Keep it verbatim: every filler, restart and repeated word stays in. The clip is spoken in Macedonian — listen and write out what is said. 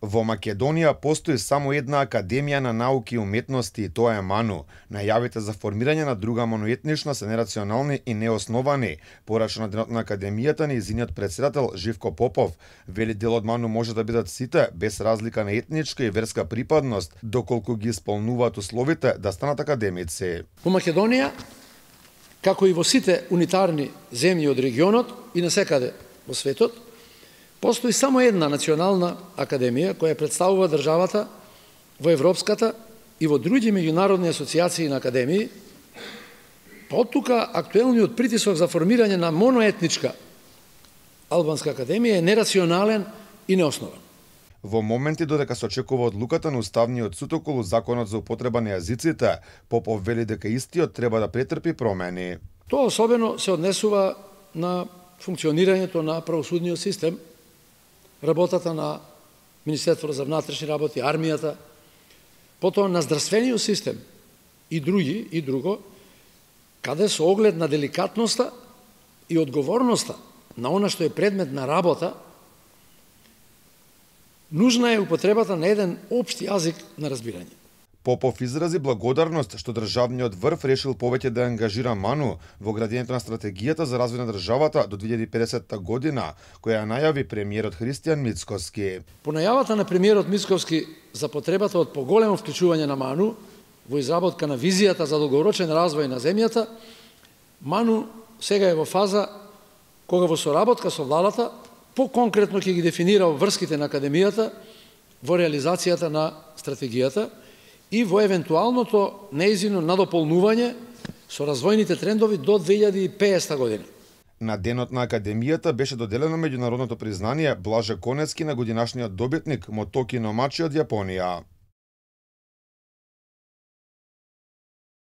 Во Македонија постои само една академија на науки и уметности и тоа е МАНУ. Најавите за формирање на друга моноетнична се нерационални и неосновани, порача на денот на академијата нејзиниот претседател Живко Попов. Вели дел од МАНУ може да бидат сите, без разлика на етничка и верска припадност, доколку ги исполнуваат условите да станат академици. Во Македонија, како и во сите унитарни земји од регионот и насекаде во светот, постои само една национална академија која представува државата во Европската и во други меѓународни асоциации на академии, па од тука актуелниот притисок за формирање на моноетничка албанска академија е нерационален и неоснован. Во моменти додека се очекува одлуката на Уставниот суд околу законот за употреба на јазиците, Попов вели дека истиот треба да претрпи промени. Тоа особено се однесува на функционирањето на правосудниот систем, работата на Министерството за внатрешни работи, армијата, потоа на здравствениот систем и други и друго, каде со оглед на деликатноста и одговорноста на она што е предмет на работа, нужна е употребата на еден општ јазик на разбирање. Попов изрази благодарност што државниот врв решил повеќе да ангажира МАНУ во градењето на стратегијата за развој на државата до две илјади и педесета година, која најави премиерот Христијан Мицкоски. По најавата на премиерот Мицкоски за потребата од поголемо вклучување на МАНУ во изработка на визијата за долгорочен развој на земјата, МАНУ сега е во фаза кога во соработка со владата поконкретно ќе ги дефинира врските на академијата во реализацијата на стратегијата и во евентуалното нејзино надополнување со развојните трендови до две илјади и педесета година. На денот на академијата беше доделено меѓународното признание Блаже Конецки на годинашниот добитник Мотоки Номачи од Јапонија.